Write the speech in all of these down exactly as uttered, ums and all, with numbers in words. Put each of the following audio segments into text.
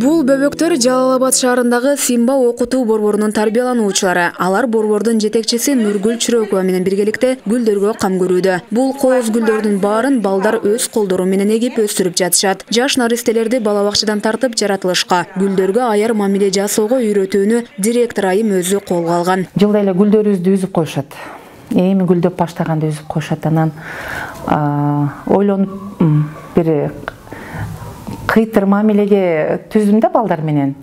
Бул бөбөктөр Жалал Абад шаарындагы Симба окутуу борборунун тарбиялануучулары. Алар борбордун жетекчиси Нургүл Чүрөкова менен биргеликте гүлдөргө кам көрүүдө. Бул кооз гүлдөрдүн баарын балдар өз колдору менен эгип өстүрүп жатышат. Жаш наристелерди бала бакчадан тартып жаратылышка, гүлдөргө аяр мамиле жасоого үйрөтүүнү директор айым өзү колго алган. Жылда эле гүлдөрүбүздү үзүп коюшат. Эми гүлдөп баштаганда үзүп коюшат. Анан ойлонуп бир кыйтыр мамилеге түздүм да балдар менен.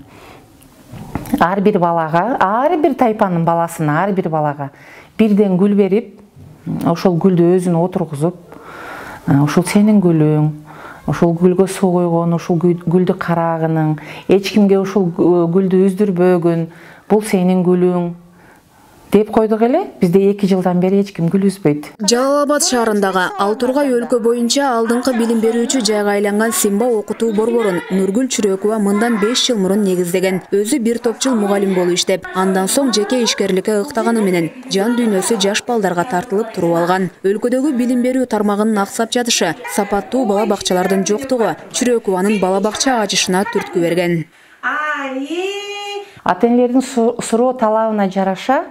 Ар бир балага, ар бир тайпанын баласына, ар бир балага бирден гүл берип, ошол гүлдү өзүнө отургузуп, ушул сенин гүлүң, ушул гүлгө суу койгон, ушул гүлдү карагының, эч кимге ушул гүлдү үздүрбөгүн, бул сенин гүлүң деп койдук эле. Бизде эки жылдан бери эч ким гүл үзбөйт. Жалал Абад шаарындагы Ал Тургай өлкө боюнча алдыңкы билим берүүчү жайга айланган Симба окутуу борборун Нургүл Чүрөкова мындан беш жыл мурун негиздеген. Өзү бир топ жыл мугалим болуп иштеп, андан соң жеке ишкерликке ыктаганы менен жан дүйнөсү жаш балдарга тартылып туруп алган. Өлкөдөгү билим берүү тармагынын аксап жатышы, сапаттуу бала бакчалардын жоктугу Чүрөкованын бала бакча ачышына түрткү берген. Ата энелердин суроо талабына жараша,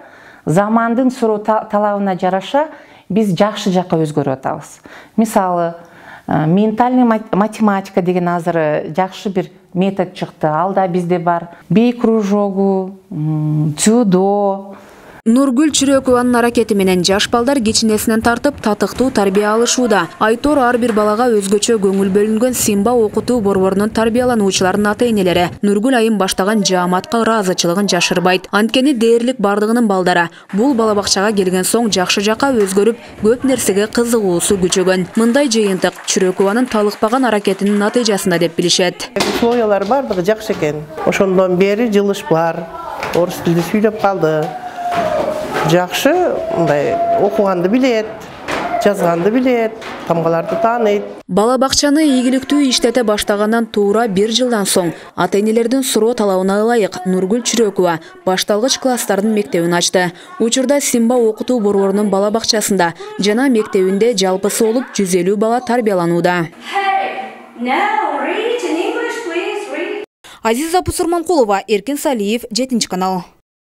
замандын суроо талабына жараша биз жакшы жакка өзгөрүп атабыз. Мисалы, ментальный математика деген азыр жакшы бир метод чыкты. Алда бизде бар бей кружогу, дзюдо. Нургүл Чүрөкованын аракети менен жаш балдар кичинесинен тартып татыктуу тарбия алышууда. Айтор ар бир балага өзгөчө көңүл бөлүнгөн Симба окутуу борборунун тарбиялануучуларынын ата энелери Нургүл айым баштаган жааматка ыраазычылыгын жашырбайт. Анткени дээрлик бардыгынын балдары бул бала бакчага келген соң жакшы жакка өзгөрүп, көп нерсеге кызыгуусу күчөгөн. Мындай жыйынтык Чүрөкованын талыкпаган аракетинин натыйжасында деп билишет. Условиялар бардыгы жакшы экен. Ошондон бери жылышпар, орус тилде сүйлөп калды. Жакшы, мындай окуганды билет, жазганды билет, тамгаларды тааныйт. Бала бакчаны ийгиликтүү иштете баштагандан туура бир жылдан соң ата энелердин суроо талабына ылайык Нургүл Чүрөкова башталгыч класстардын мектебин ачты. Учурда Симба окутуу борборунун бала бакчасында жана мектебинде жалпысы болуп жүз элүү бала тарбияланууда. Азиза Пусурманкулова, Эркин Салиев, жетинчи канал.